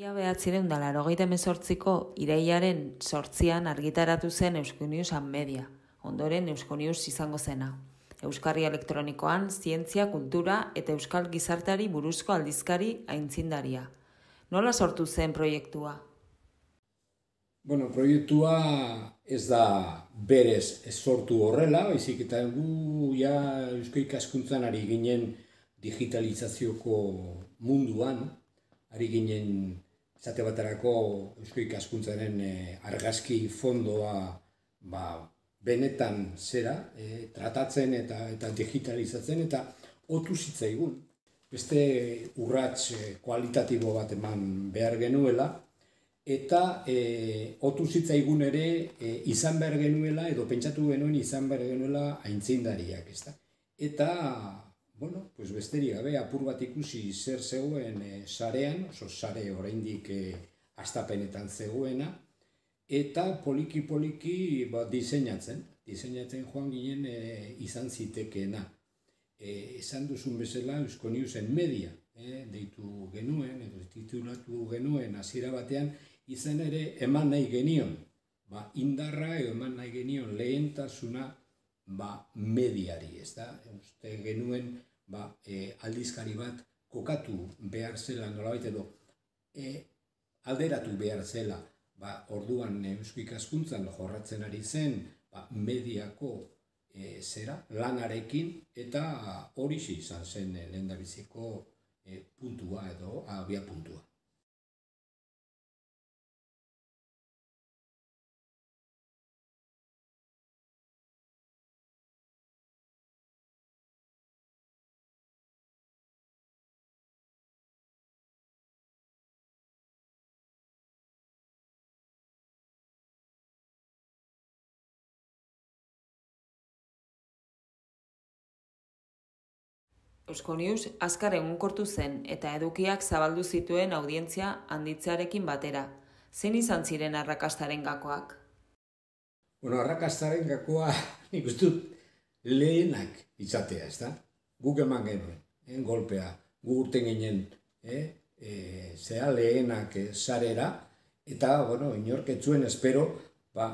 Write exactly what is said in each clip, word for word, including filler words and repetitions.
Mila bederatziehun eta laurogeita hemezortziko irailaren zortzian argitaratu zen Euskonius Media, ondoren Euskonius izango zena. Euskarri elektronikoan, zientzia, kultura eta euskal gizarteari buruzko aldizkari aitzindaria. Nola sortu zen proiektua? Bueno, proiektua ez da berez ez sortu horrela, baizik eta gu ja eusko ikaskuntzan ari ginen digitalizazioko munduan, ari ginen esate baterako eusko ikaskuntzaren eh, argazki fondoa ba, benetan zera, eh, tratatzen eta, eta digitalizatzen eta otu zitzaigun. Beste urrats eh, kualitatibo bat eman behar genuela, eta e, otu zitzaigun ere e, izan behar genuela, edo pentsatu genuen izan behar genuela aintzindariak, ezta. Eta, bueno, pues besterik gabe apur bat ikusi zer zegoen e, sarean, oso sare oraindik e, hastapenetan zegoena, eta poliki-poliki ba, diseinatzen, diseinatzen joan ginen e, izan zitekeena. E, esan duzun bezala Euskoniusen Media, e, deitu genuen, edo titulatu genuen hasiera batean, izan ere eman nahi genion, ba, indarra edo eman nahi genion lehentasuna ba, mediari, ez da? Uste genuen ba, e, aldizkari bat kokatu behar zela nolabait edo e, alderatu behar zela, ba, orduan eusko ikaskuntzan jorratzen ari zen ba, mediako e, zera, lanarekin, eta horixe izan zen lehendabiziko e, puntua edo abia puntua. Euskonius azkar egonkortu zen eta edukiak zabaldu zituen audientzia handitzearekin batera. Zein izan ziren arrakastaren gakoak? Bueno, arrakastaren gakoa nik uste dut lehenak izatea, ez da? Guk eman genuen, eh, golpea, gu urten ginen, eh, e, zea lehenak eh, sarera, eta, bueno, inorketzuen espero, ba,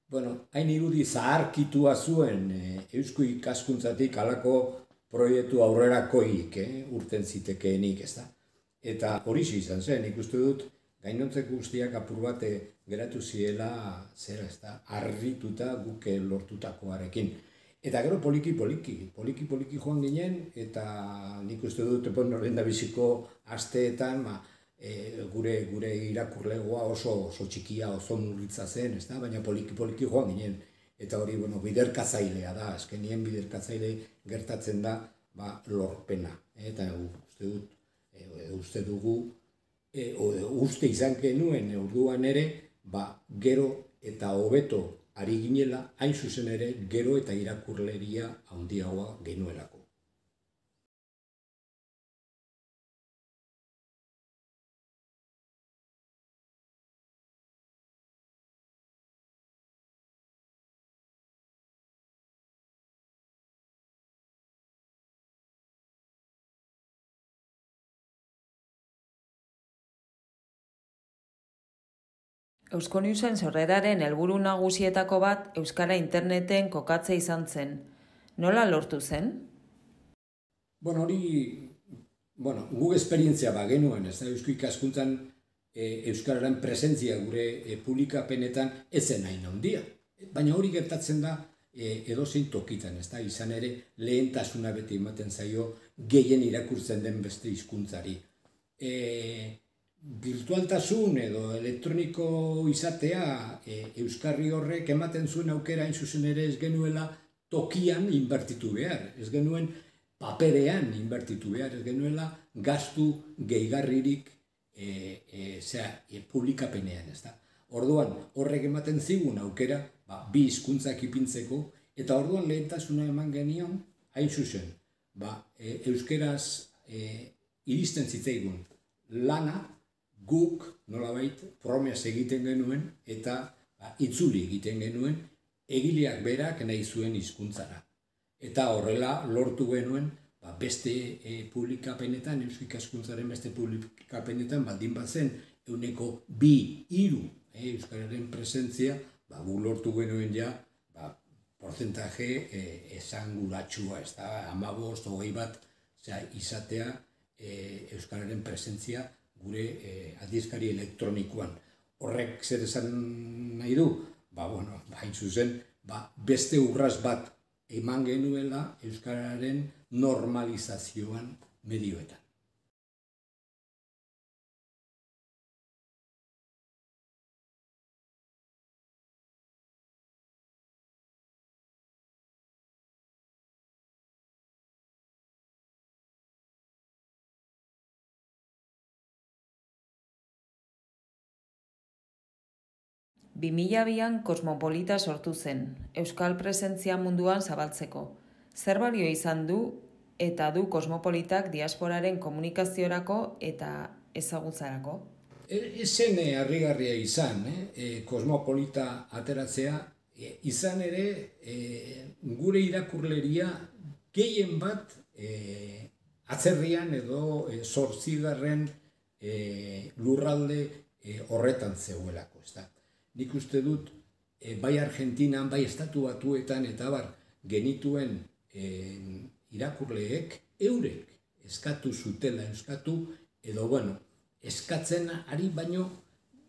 bueno, hain irudi zaharkitua zuen eh, eusko ikaskuntzatik alako proiektu aurrerakoik eh, urten zitekeenik, ez da. Eta hori izan zen, ikustu dut, gainontzeko guztiak apur bat geratu ziela, zera, ez da, harrituta guke lortutakoarekin. Eta gero poliki-poliki, poliki-poliki joan ginen, eta nik uste dut, bueno, lehendabiziko asteetan, ma, e, gure, gure irakurlegoa oso, oso txikia, oso murritza zen, ez da, baina poliki-poliki joan ginen. Eta hori, bueno, biderkatzailea da, azkenien biderkatzaile gertatzen da ba, lorpena. Eta uste dut, e, uste dugu, e, uste izan genuen orduan ere, ba, gero eta hobeto ari ginela, hain zuzen ere, gero eta irakurleria handiagoa genuelako. Euskoniusen sorreraren helburu nagusietako bat euskara interneten kokatzea izan zen. Nola lortu zen? Bueno, hori, bueno, gu esperientzia ba genuen, ez da, eusko ikaskuntzan e, euskararen presentzia gure e, publikapenetan ez zen hain handia. Baina hori gertatzen da e, edozein tokitan, ez da, izan ere lehentasuna beti ematen zaio gehien irakurtzen den beste hizkuntzari. E, Virtualtasun edo elektroniko izatea e, euskarri horrek ematen zuen aukera hain zuzen ere ez genuela tokian inbertitu behar, ez genuen paperean inbertitu behar, ez genuela gastu gehigarririk e, e, zera, e, publikapenean, ez da. Orduan horrek ematen zigun aukera ba, bi hizkuntzak ipintzeko, eta orduan lehentasuna eman genion hain zuzen, ba, e, euskeraz e, iristen zitzaigun lana, guk nolabait promesa egiten genuen eta ba, itzuli egiten genuen egileak berak nahi zuen hizkuntzara. Eta horrela lortu genuen ba, beste e, publikapenetan, eusko ikaskuntzaren beste publikapenetan baldin bazen euneko bi, hiru, eh, euskararen presentzia, ba, gu lortu genuen ja, ba, porcentaje eh, esanguratsua, ez da, hamabost, hogei bat, zera, izatea eh, euskararen presentzia gure eh, aldizkari elektronikoan. Horrek zer esan nahi du? Ba, bueno, hain zuzen, ba, beste urraz bat eman genuela euskararen normalizazioan medioetan. bi mila bian Kosmopolita sortu zen, euskal presentzia munduan zabaltzeko. Zer balio izan du eta du Kosmopolitak diasporaren komunikaziorako eta ezagutzarako? Ezen e, harrigarria izan, eh? e, Kosmopolita ateratzea, e, izan ere e, gure irakurleria gehien bat e, atzerrian edo e, zortzigarren e, lurralde e, horretan zeuelako, ez da. Nik uste dut, e, bai Argentinan, bai Estatu Batuetan eta bar genituen e, irakurleek eurek eskatu zutela, eskatu edo, bueno, eskatzen ari baino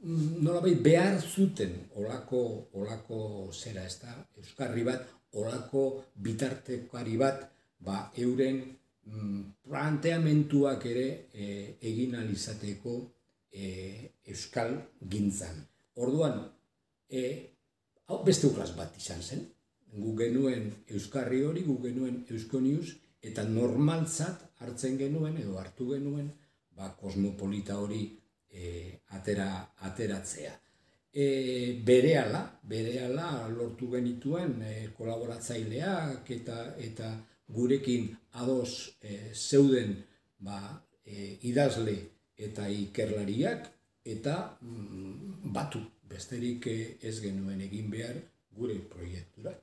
nolabait behar zuten olako, olako zera, ez da, euskarri bat, olako bitartekari bat, ba, euren mm, planteamentuak ere e, egin alizateko e, euskal gintzan. Orduan, e, hau beste urraz bat izan zen. Gu genuen euskarri hori, gu genuen Euskonius, eta normaltzat hartzen genuen, edo hartu genuen, ba, Kosmopolita hori e, atera, ateratzea. E, berehala, berehala lortu genituen e, kolaboratzaileak eta, eta gurekin ados e, zeuden ba, e, idazle eta ikerlariak, eta mm, batu, besterik ez genuen egin behar gure proiektura.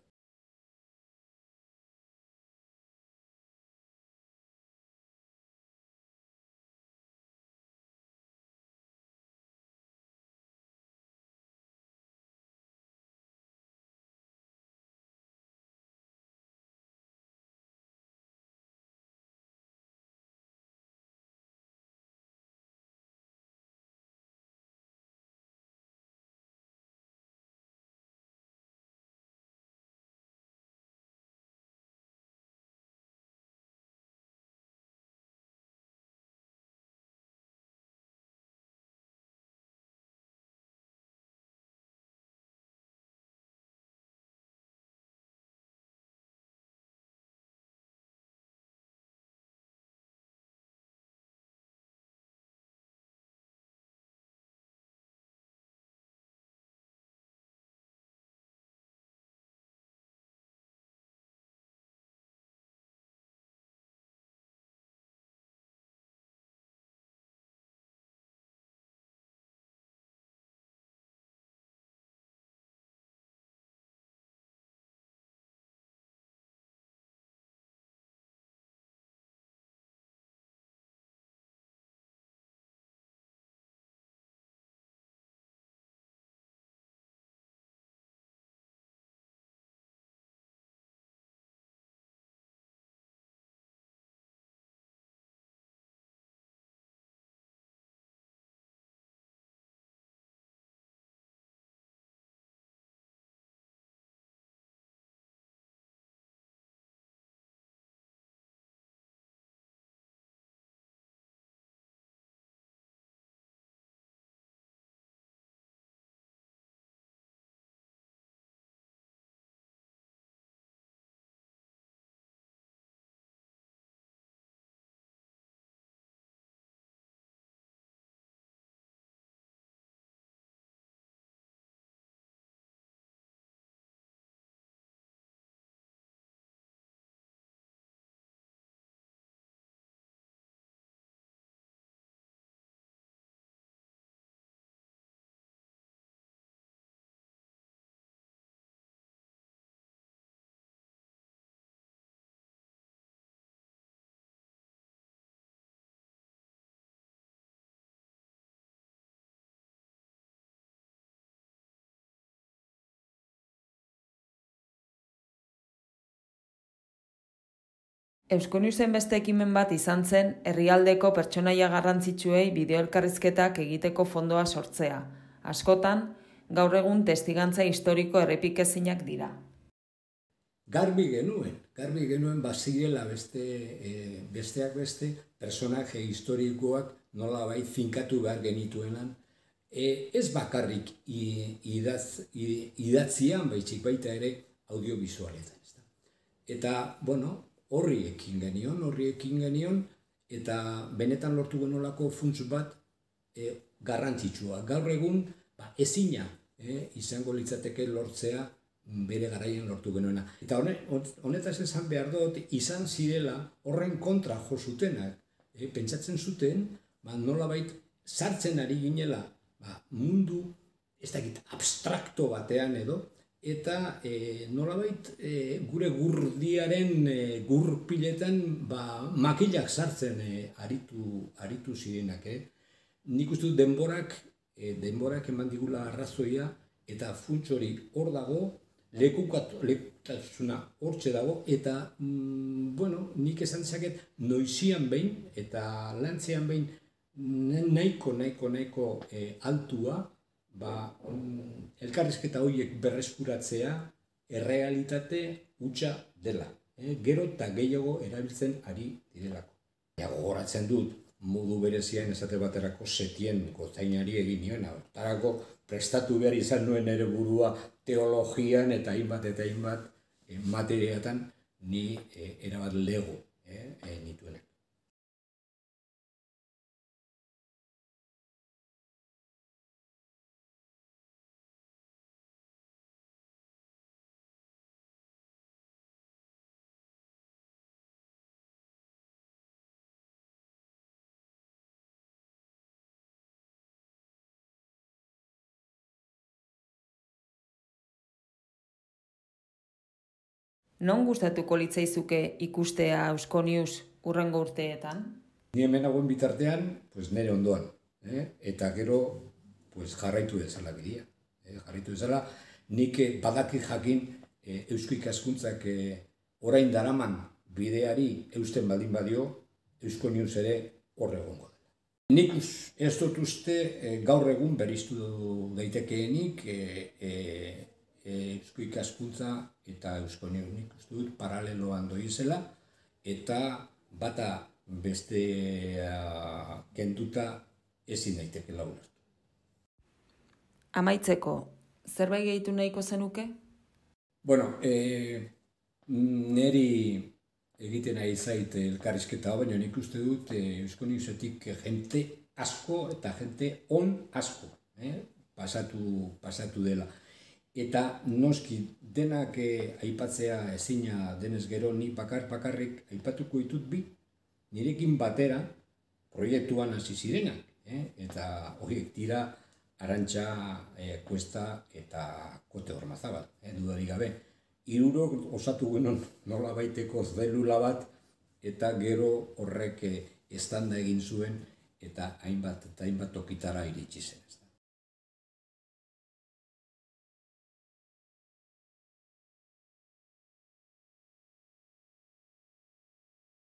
Euskonewsen beste ekimen bat izan zen herrialdeko pertsonaia garrantzitsuei bideo-elkarrizketak egiteko fondoa sortzea. Askotan, gaur egun testigantza historiko errepikezinak dira. Garbi genuen, garbi genuen bazirela beste, e, besteak beste personaje historikoak nolabait finkatu behar genituenan, e, ez bakarrik idatz, idatzian, baizik baita ere audiovisualetan. Eta, bueno, horri ekin genion, horri ekin genion, eta benetan lortu genolako funts bat e, garrantzitsua. Gaur egun, ba, ezina e, izango litzateke lortzea bere garaian lortu genuena. Eta honetaz esan behar dut, izan zirela horren kontra jo zutenak. E, pentsatzen zuten, ba, nolabait sartzen ari ginela ba, mundu, ez dakit, abstrakto batean edo, eta e, nolabait e, gure gurdiaren e, gurpiletan ba, makilak sartzen e, aritu, aritu zirenak. Eh? Nik uste dut denborak, e, denborak eman digula arrazoia, eta funts hori hor dago, lekutasuna hortxe dago, eta mm, bueno, nik esan zaket noizian behin, eta lantzean behin nahiko, nahiko, nahiko e, altua, ba, mm, elkarrizketa horiek berreskuratzea errealitate hutsa dela. Eh? Gero eta gehiago erabiltzen ari direlako. Ja, gogoratzen dut, modu berezian esate baterako setien gozainari egin nion. Hortarako prestatu behar izan nuen ere burua teologian eta hainbat eta hainbat eh, materiatan ni eh, erabat lego eh, eh, nituenak. Non gustatuko litzaizuke ikustea Euskonews hurrengo urteetan? Ni hemen nagoen bitartean, pues nire ondoan. Eh? Eta gero pues, jarraitu dezala bidea. Eh? Jarraitu dezala, nik badaki jakin eh, eusko ikaskuntzak eh, orain daraman bideari eusten baldin badio, Euskonews ere hor egongo dela. Nik ez dut uste eh, gaur egun beriztu daitekeenik eh, eh, eusko ikaskuntza eta Euskonews nik uste dut paraleloan doizela, eta bata beste uh, kenduta ezin daitekela ulertu. Amaitzeko, zerbait gehitu nahiko zenuke? Bueno, eh, neri egiten ari zait elkarrizketa hau, baina nik uste dut eh, Euskonewsetik jente asko eta jente on asko eh, pasatu, pasatu dela. Eta noski denak eh, aipatzea ezina denez gero, ni bakar bakarrik aipatuko ditut bi, nirekin batera proiektuan hasi zirenak. Eh? Eta horiek dira Arantxa eh, Kuesta eta Kote Ormazabal, eh, dudarik gabe. Hirurok osatu genuen nola baiteko zelula bat, eta gero horrek eh, estanda egin zuen, eta hainbat eta hainbat tokitara iritsi zen.